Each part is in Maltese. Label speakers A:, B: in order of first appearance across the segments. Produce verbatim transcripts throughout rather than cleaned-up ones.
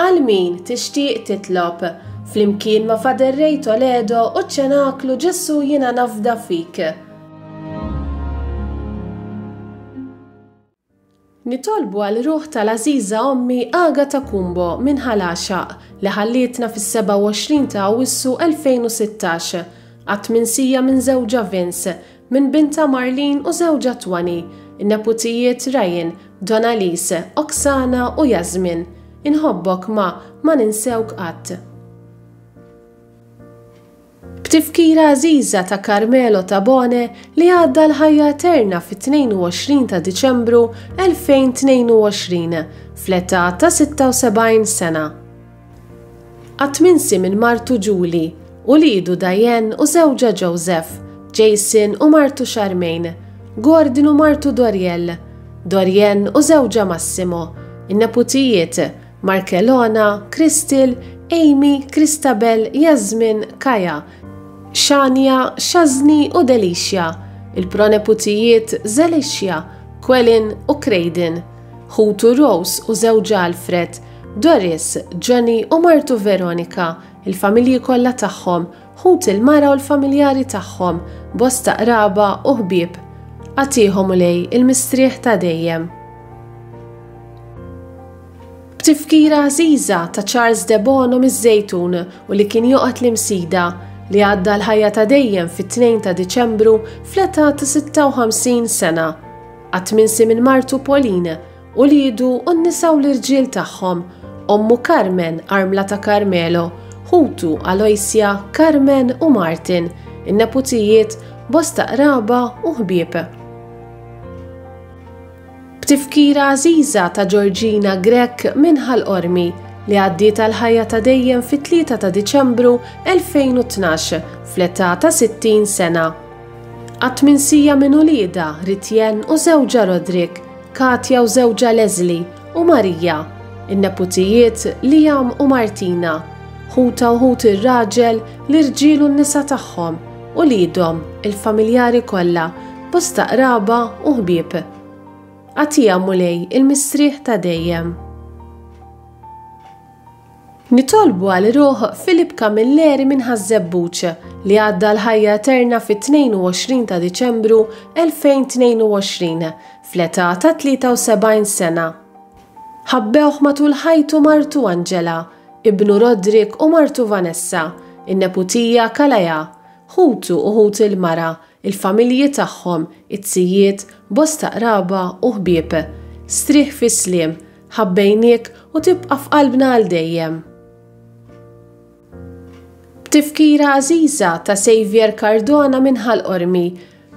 A: Għal min tixtieq titlob, flimkien ma' Father Ray Toledo u ċ-Ċenaklu Ġesù Jiena Nafda Fik. Nitolbu għal ruħ tal-għażiża ommi Agata Kumbo minn Ħal Għaxaq li ħallietna fis-sebgħa u għoxrin ta' Awwissu elfejn u sittax, qatt minsija minn żewġha Vince, minn bintha Marlene u żewġha Twani, in-neputijiet Ryan, Donalise, Oksana u Jasmin. Inħobbok ma, ma ninsewk qatt. B'tifkira għażiża ta' Carmelo Tabone li għadda l-ħajja eterna fit-tnejn u għoxrin ta' Diċembru elfejn tnejn u għoxrin, fl-età ta' sitta u sebgħin sena. Qatt minsi minn martu Julie, ulidu Diane u żewġha Joseph, Jason u martu Charmaine, Gordon u martu Doriel, Dorien u żewġha Massimo, in-neputijiet Markelona, Crystal, Amy, Christabel, Jasmine, Kaja, Shania, Shazni u Delicia, il-proneputijiet Zelicia, Quelin u Craydon, ħutu Rose u żewġha Alfred, Doris, Johnny u martu Veronica, il-familji kollha tagħhom, ħut il-mara u l-familjari tagħhom, bosta qraba u ħbieb. Agħtihom Mulej il-mistrieħ ta' dejjem. B'tifkira għażiża ta' Charles De Bono miż-Żejtun u li kien joqgħod l-Imsida, li għadda l-ħajja ta' dejjem fit-tnejn ta' Diċembru fl-età ta' sitta u ħamsin sena. Qatt minsi minn martu Pauline, uliedu u n-nisa u l-irġiel tagħhom, ommu Carmen, armla ta' Carmelo, ħutu Aloysia, Carmen u Martin, in-neputijiet, bosta qraba u ħbieb. B'tifkira għażiża ta' Georgina Grech minn Ħal Qormi li għaddiet għal-ħajja ta' dejjem fit-tlieta ta' Diċembru elfejn u tnax fl-età ta' sittin sena. Qatt minsija minn uliedha Ritjen u żewġha Roderick, Katja u żewġha Leslie u Marija, in-neputijiet Liam u Martina, ħuta u ħut ir-raġel, l-irġiel u n-nisa tagħhom, uliedhom, il-familjari kollha, bosta qraba u ħbieb. Agħtiha Mulej il-mistrieħ ta' dejjem. Nitolbu għal ruħ Filip Camilleri minn Ħaż-Żebbuġ li għadda l-ħajja eterna fit-tnejn u għoxrin ta' Diċembru elfejn tnejn u għoxrin fl-età ta' tlieta u sebgħin sena. Ħabbewh matul ħajtu martu Angela, ibnu Roderick u martu Vanessa, in-neputija Kalaja, ħutu u ħut il-mara, il-familji tagħhom, it-sijiet, bosta qraba u ħbieb. Strieħ fis-sliem, ħabbejniek u tibqa' f'qalbna għal dejjem. B'tifkira għażiża ta' Xavier Cardona minn Ħal Qormi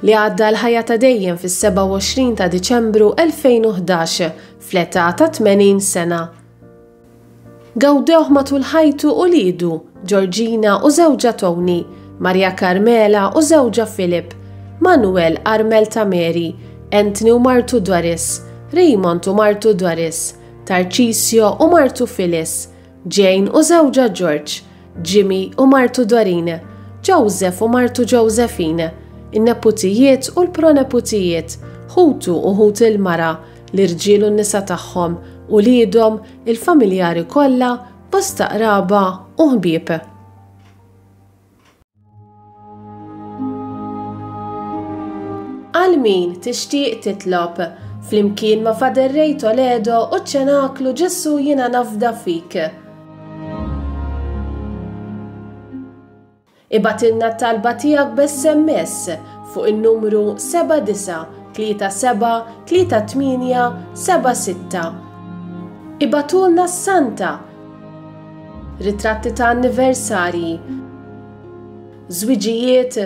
A: li għadda l-ħajja ta' dejjem fis-sebgħa u għoxrin ta' Diċembru elfejn u ħdax fl-età ta' tmenin sena. Gawdewh matul ħajtu u lidu, Georgina u żewġha Tony, Maria Carmela u żewġha Philip, Manuel Armel ta' Mary, Anthony u martu Doris, Raymond u martu Doris, Tarcisio u martu Phyllis, Jane u żewġha George, Jimmy u martu Doreen, Joseph u martu Josephine, in-neputijiet u l-proneputijiet, ħutu u ħut il-mara, l-irġiel u n-nisa tagħhom, uliedhom, il-familjari kollha, bosta qraba u ħbieb. Għal min tixtieq titlob, flimkien ma' Father Ray Toledo u ċ-Ċenaklu Ġesù Jiena Nafda Fik. Ibgħatilna t-talba tiegħek b'S M S fuq in-numru seba' disa' tlieta seba' tlieta tmienja seba' sitta. Ibgħatulna s-Santa, ritratti ta' anniversarji, żwiġijiet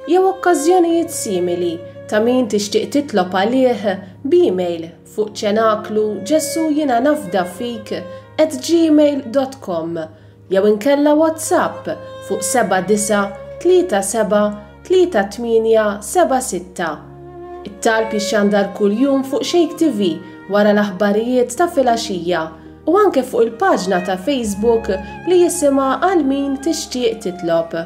A: jew okkażjonijiet simili ta' min tixtieq titlob għalih b'email fuq ċenaklu Ġesù Jiena Nafda Fik at gmail dot com jew inkella WhatsApp fuq seba' disa' tlieta seba' tlieta tmienja seba' sitta. It-talb jixxandar kuljum fuq Shake T V wara l-aħbarijiet ta' filgħaxija u anke fuq il-paġna ta' Facebook li jisimha Għal Min Tixtieq Titlob.